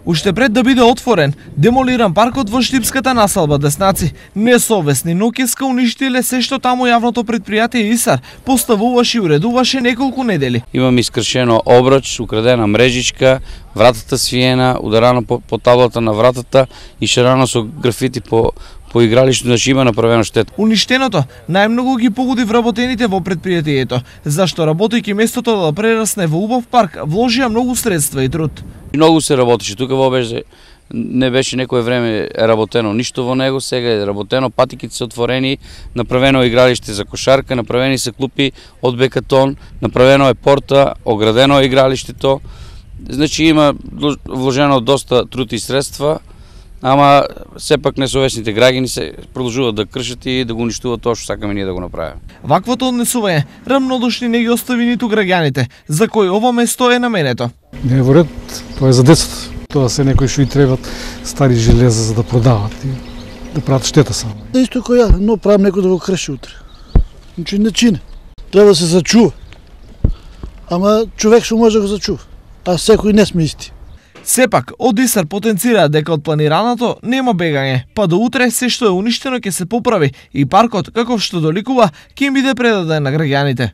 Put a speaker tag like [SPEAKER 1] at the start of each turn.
[SPEAKER 1] Уште пред да биде отворен, демолиран паркот во Штипската населба Деснаци, несовесни ноќеска уништиле се што таму јавното предпријатие ИСАР поставуваше и уредуваше неколку недели.
[SPEAKER 2] Имаме искршено обрач, украдена мрежичка, вратата свиена, ударана по таблата на вратата и шарана со графити по игралишто, значи има направено штета.
[SPEAKER 1] Уништеното најмногу ги погоди вработените во предпријатието, зашто работејќи местото да прерасне во убав парк, вложија многу средства и труд.
[SPEAKER 2] Многу се работеше, тука не беше некое време работено ништо во него, сега е работено, патиките се отворени, направено е игралиште за кошарка, направени се клупи од бекатон, направено е порта, оградено е игралиштето. Значи има вложено доста труд и средства, ама сепак несовесните граѓани се продолжуваат да кршат и да го уништуваат тоа што сакаме ние да го направиме.
[SPEAKER 1] Ваквото однесување рамнодушни не ги остави ниту граѓаните, за кои ова место е наменето.
[SPEAKER 3] Не е во ред, тоа е за децата. Тоа се некои што и требат стари железа за да продават и да прават штета само.
[SPEAKER 4] Исто кој ја, но правам некој да го крши утре. Значи не чине. Треба да се зачува. Ама човек што може да го зачува, а секој не сме исти.
[SPEAKER 1] Сепак, од ИСАР потенцира дека од планираното нема бегање, па до утре се што е уништено ќе се поправи и паркот, каков што доликува, ќе им биде предаден на граѓаните.